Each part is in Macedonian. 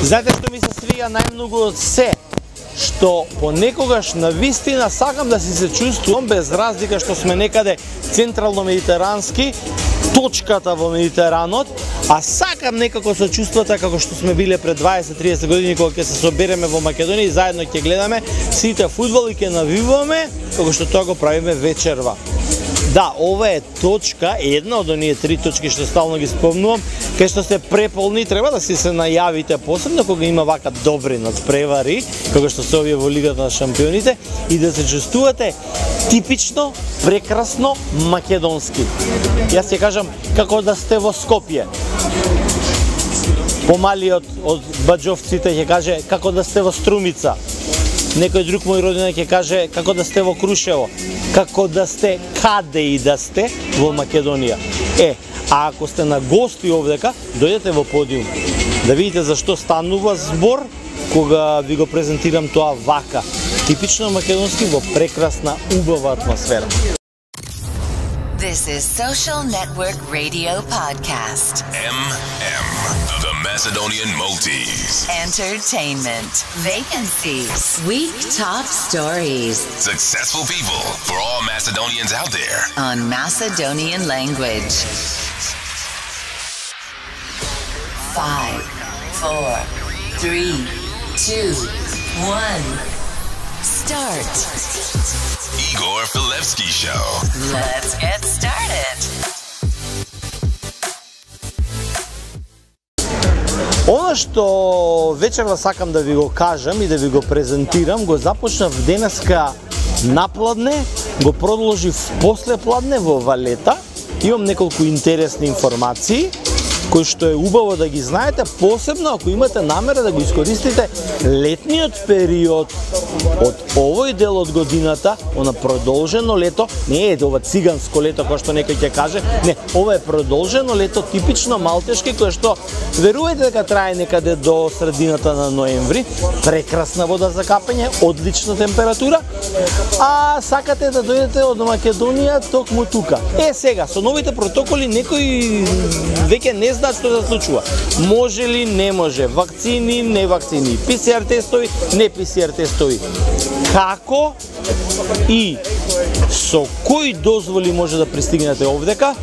Знаете што ми се свија најмногу од се? Што понекогаш навистина сакам да си се чувствувам без разлика што сме некаде централно-медитерански, точката во Медитеранот, а сакам некако со чувствата како што сме биле пред 20-30 години кога ќе се собереме во Македонија и заедно ќе гледаме сите фудбал и ќе навиваме како што тоа го правиме вечерва. Да, ова е точка, една од оние 3 точки што стално ги спомнувам, кај што се преполни, треба да си се најавите посебно кога има вака добри надпревари, кога што се овие во Лигата на шампионите, и да се чувствувате типично, прекрасно македонски. Јас ќе кажам како да сте во Скопје. Помалиот од баџовците ќе каже како да сте во Струмица. Некој друг мој родина ќе каже како да сте во Крушево, како да сте каде и да сте во Македонија. А ако сте на гости овдека, дојдете во подиум, да видите зашто станува збор кога ви го презентирам тоа вака, типично македонски во прекрасна, убава атмосфера. This is Social Network Radio Podcast. The Macedonian Multis. Entertainment. Vacancies. Week top stories. Successful people for all Macedonians out there. On Macedonian language. 5, 4, 3, 2, 1. Start. Igor Filevski Show. Let's get started. Она што вечерва сакам да ви го кажам и да ви го презентирам, го започнав денеска напладне, го продолжив после пладне во Валета. Имам неколку интересни информации кои што е убаво да ги знаете, посебно ако имате намера да го искористите летниот период од овој дел од годината, она продолжено лето, не е ова циганско лето кој што некој ќе каже, не, ова е продолжено лето типично малтешки кое што верувајте дека трае некаде до средината на ноември, прекрасна вода за капење, одлична температура, а сакате да дојдете од Македонија токму тука. Сега со новите протоколи некои веќе не знаат што се случува. Може ли, не може, вакцини, не вакцини, ПСР тестови, не ПСР тестови. Како и со кои дозволи може да пристигнете овдека,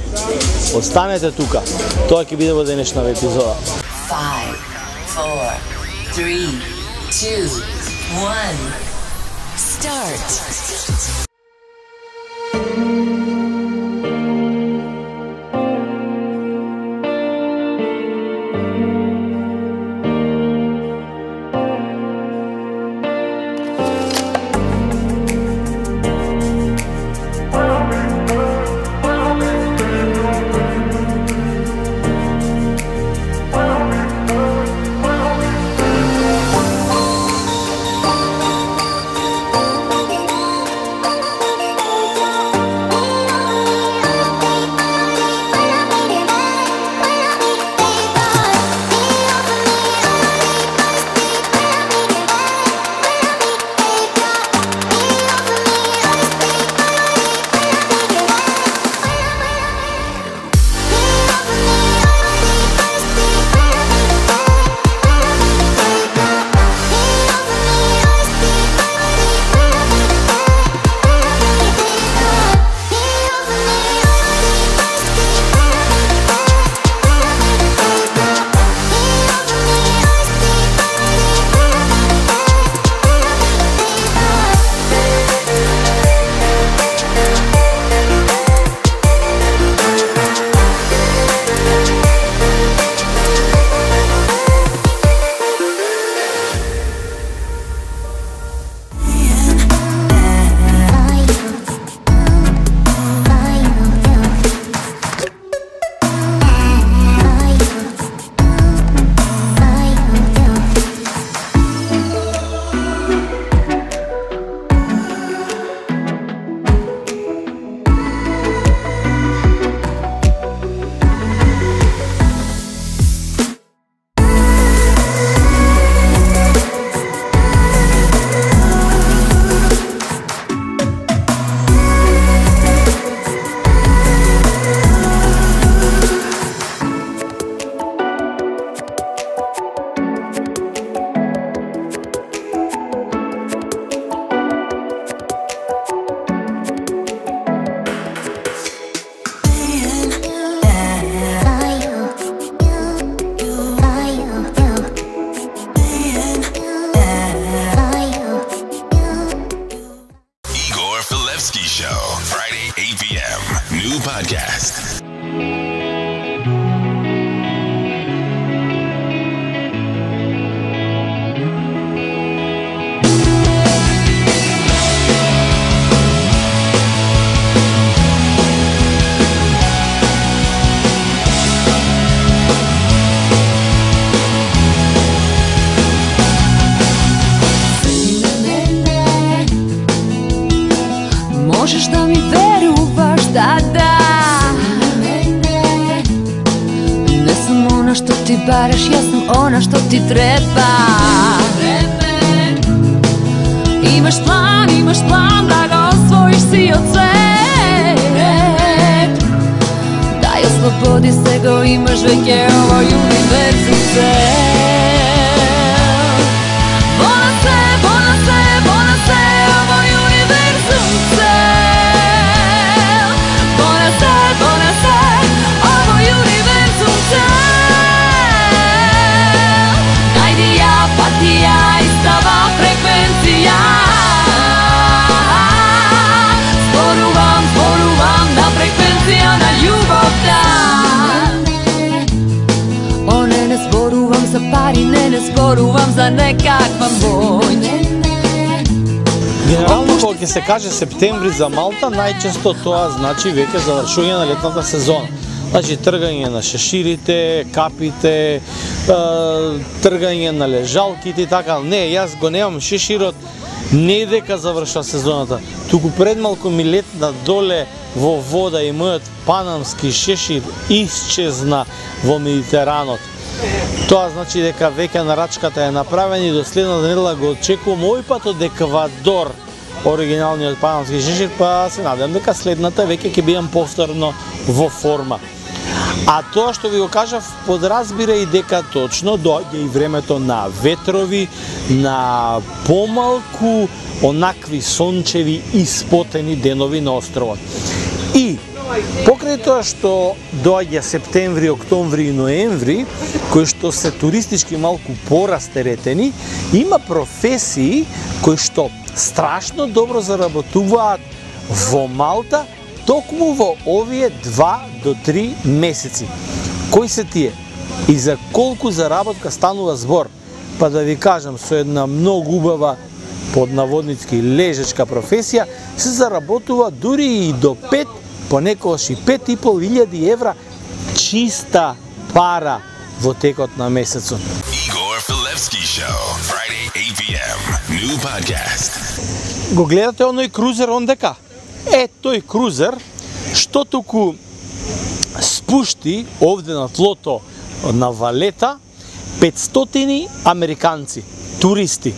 останете тука. Тоа ќе биде во денешната епизода. 5, 4, 3, 2, 1. Start. можеш да ми веруваш, да. Не сум она што ти бараш, јас сум она што ти треба. Имаш план да го освоиш си од свет. Да ја слободи се го имаш веќе овој универзум цел. Bona se, ovој универзум цел. Bona se, ovој универзум цел. Најдија, патија, истава фреквенција. Зборувам на фреквенција на љубовта. Не зборувам за пари, не зборувам за некаква моќ. Генерално, кога ќе се каже септември за Малта, најчесто тоа значи веќе завршување на летната сезона. Значи тргање на шеширите, капите, тргање на лежалките и така. Не, јас го немам шеширот не дека завршва сезоната, туку пред малку ми летна доле во вода и мојот панамски шешир исчезна во Медитеранот. Тоа значи дека веќе нарачката е направена и до следната недела го очекувам овој пат од Еквадор оригиналниот панамски шешир, па се надевам дека следната веќе ќе бидам повторно во форма. А тоа што ви го кажав, подразбира и дека точно доаѓа и времето на ветрови, на помалку онакви сончеви и спотени денови на островот. И покрај тоа што доаѓа септември, октомври и ноември, кои што се туристички малку порастеретени, има професии кои што страшно добро заработуваат во Малта токму во овие 2 до 3 месеци. Кои се тие? И за колку заработка станува збор? Па да ви кажам, со една многу убава под наводницки лежачка професија се заработува дури и до 5, понекогаш и 5.500 евра чиста пара во текот на месецот. Igor Filevski Show, Friday 8 p.m. New podcast. Го гледате оној крузер ондека? Тој крузер што туку спушти овде на тлото на Валета 500 американци, туристи.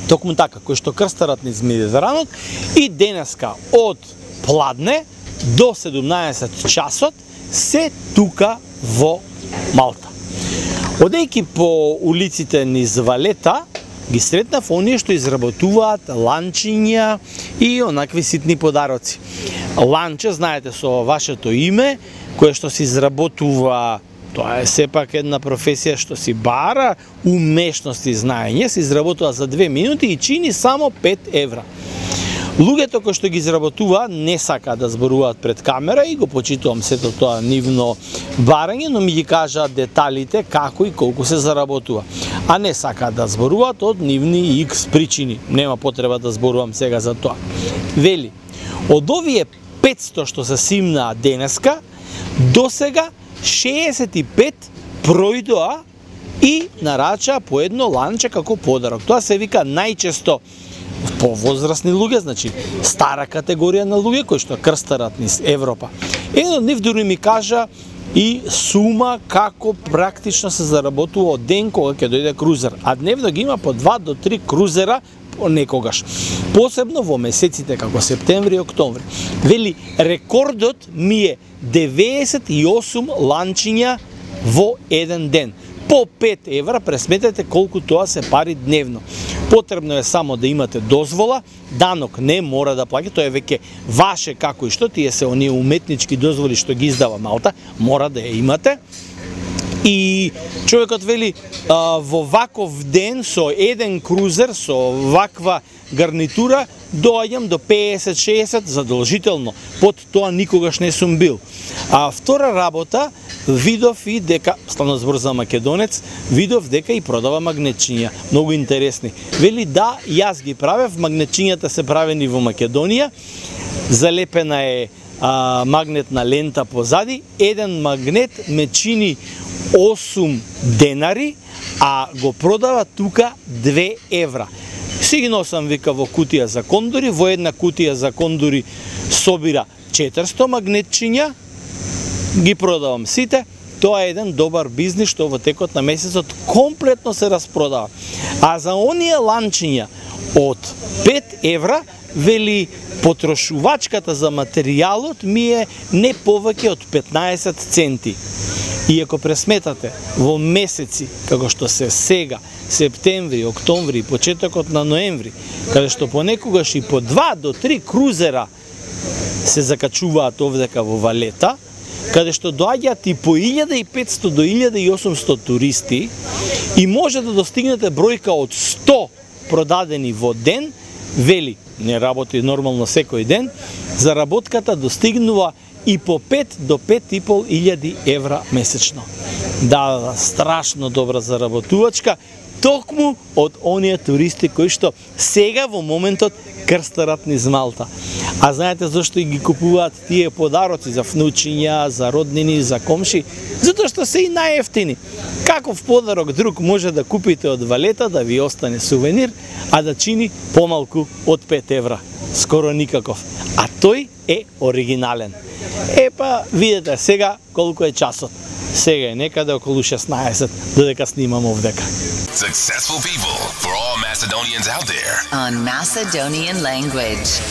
Токму така, кои што крстарат низ Медитеранот и денеска од пладне до 17 часот се тука во Малта. Одејќи по улиците низ Валета, ги сретнав оние што изработуваат ланчиња и онакви ситни подароци. Ланче, знаете, со вашето име, кое што се изработува, тоа е сепак една професија што си бара умешност и знаење, се изработува за 2 минути и чини само 5 евра. Луѓето кои што ги изработува не сакаат да зборуваат пред камера и го почитувам сето тоа нивно барање, но ми ги кажаат деталите како и колку се заработува. А не сакаат да зборуваат од нивни X причини. Нема потреба да зборувам сега за тоа. Вели, од овие 500 што се симнаа денеска, до сега 65 пројдоа и нарачаа по едно ланче како подарок. Тоа се вика најчесто повозрасни луѓе, значи стара категорија на луѓе кои што крстарат низ Европа. Еден од нив дури ми кажа и сума како практично се заработува од ден кога ќе дојде крузер, а дневно ги има по 2 до 3 крузера некогаш. Посебно во месеците како септември и октомври. Вели, рекордот ми е 98 ланчиња во еден ден. По 5 евра, пресметете колку тоа се пари дневно. Потребно е само да имате дозвола, данок не мора да плаќате, тоа е веќе ваше како и што, тие се оние уметнички дозволи што ги издава Малта, мора да ја имате. И човекот вели, во ваков ден со еден крузер, со ваква гарнитура, доаѓам до 50-60 задолжително. Под тоа никогаш не сум бил. А втора работа, видов и дека, стана збор за македонец, видов дека и продава магнетчиња. Многу интересни. Вели, да, јас ги правев, магнетчињата се правени во Македонија, залепена е магнетна лента позади, еден магнет ме чини 8 денари, а го продава тука 2 евра. Си ги носам, вика, во кутија за кондори, во една кутија за кондори собира 400 магнетчиња, ги продавам сите. Тоа е еден добар бизнис што во текот на месецот комплетно се распродава. А за оние ланчиња од 5 евра, вели, потрошувачката за материјалот ми е не повеќе од 15 центи. И ако пресметате во месеци, како што се сега, септември, октомври, почетокот на ноември, каде што понекогаш и по 2 до 3 крузера се закачуваат овдека во Валета, каде што доаѓаат и по 1500 до 1800 туристи и може да достигнете бројка од 100 продадени во ден, вели, не работи нормално секој ден, заработката достигнува и по 5 до 5.500 евра месечно. Да, страшно добра заработувачка, токму од оние туристи кои што сега во моментот крстарат низ Малта. А знаете зашто ги купуваат тие подароци за внучиња, за роднини, за комши? Затоа што се и најефтини. Каков подарок друг може да купите од Валета да ви остане сувенир, а да чини помалку од 5 евра? Скоро никаков. А тој е оригинален. Епа, видете сега колку е часот. Сега е некаде околу 16, додека снимам овдека. Successful people for all Macedonians out there. On Macedonian language.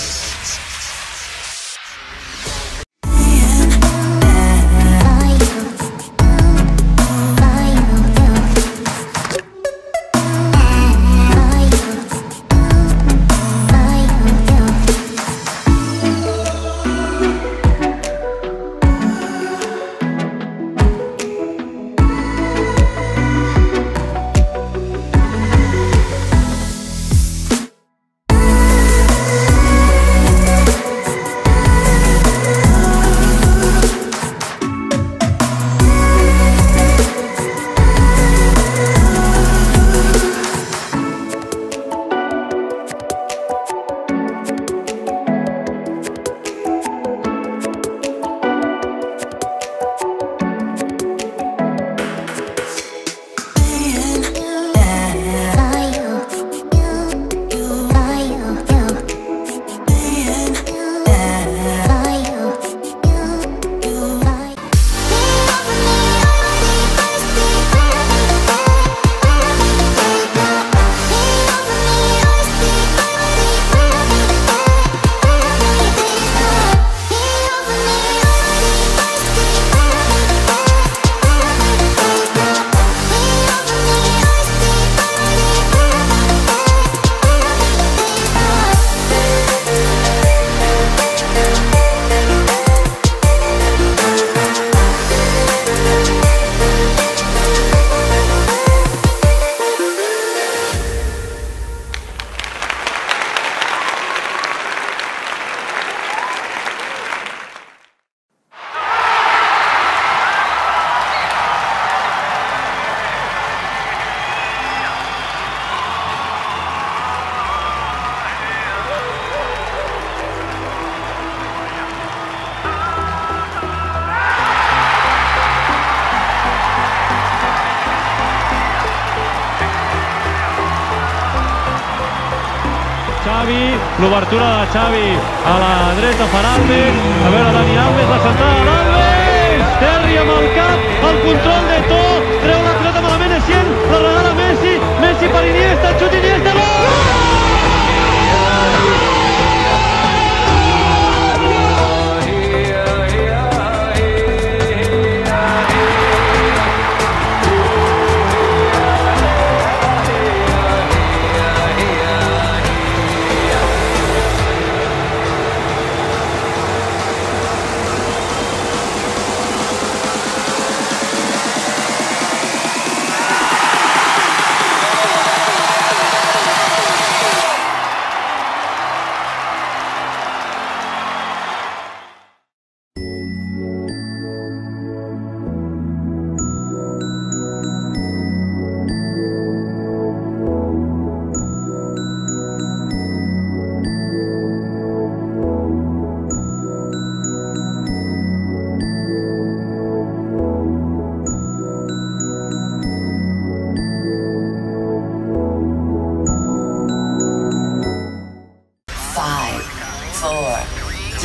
Xavi, l'obertura de Xavi a la dreta per Alves, a veure Dani Alves, la centrada d'Alves, Terri amb el cap, el control de To, treu la pilota malament Essien, la regala Messi, Messi per Iniesta, xut Iniesta, gol!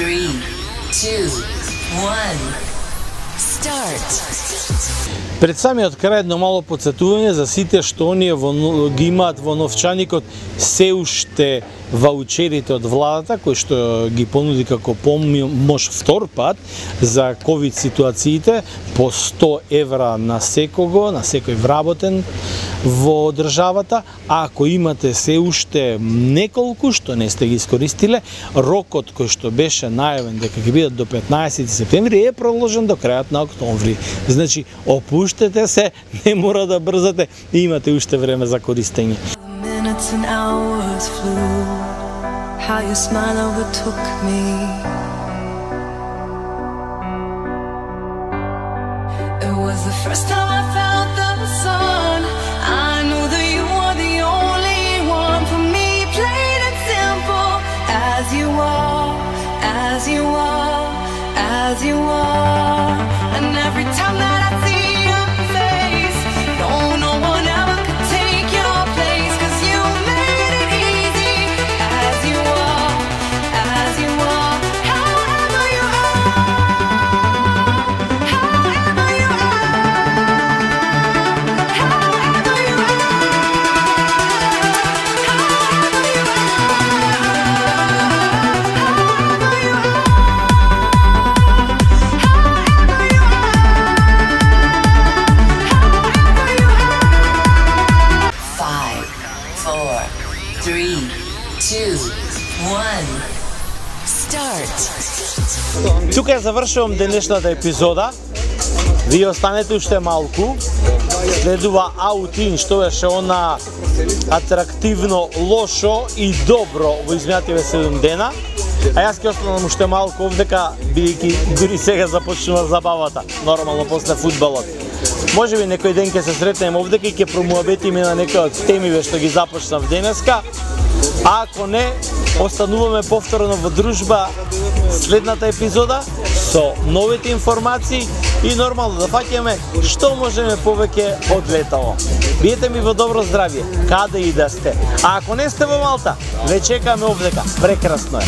3, 2, 1. Start. Пред самиот крај едно мало подсетување за сите што оние ги имаат во новчаникот се уште ваучерите од владата кои што ги понуди како помош втор пат за ковид ситуациите по 100 евра на секого, на секој вработен во државата, а ако имате се уште неколку што не сте ги искористиле, рокот кој што беше најавен дека ќе бидат до 15 септември е продолжен до крајот на октомври. Значи, опуштете се, не мора да брзате и имате уште време за користење. Minutes and hours flew, how your smile overtook me. It was the first time I felt the sun. I knew that you were the only one for me, plain and simple, as you are, as you are, as you are. And every time that I see your face, no one ever could take your place, 'cause you made it easy, as you are, as you are, however you are, however you are, however you are, however you Five, four, three, two, one. Start. Тука ја завршувам денешната епизода. Вие останете уште малку. Следува Аутин, што беше она атрактивно, лошо и добро во изминативе 7 дена. А јас ќе останам уште малку овдека, бидејќи дури сега започнува забавата, нормално после фудбалот. Може би некој ден ќе се сретнеме овдека и ќе промуабетиме на некои од темиве што ги започнав денеска. А ако не, остануваме повторно во дружба следната епизода со новите информации и нормално да фаќаме што можеме повеќе од летово. Биете ми во добро здравје, каде и да сте. А ако не сте во Малта, ве чекаме овдека. Прекрасно е.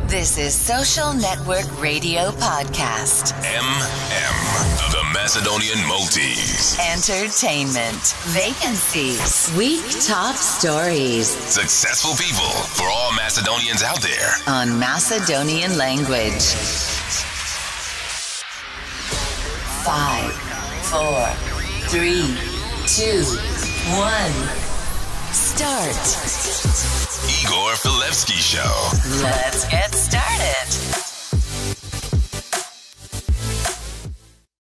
This is Social Network Radio Podcast. The Macedonian Maltese. Entertainment. Vacancies. Week top stories. Successful people for all Macedonians out there. On Macedonian language. 5, 4, 3, 2, 1. Start. Igor Filevski Show. Let's get started.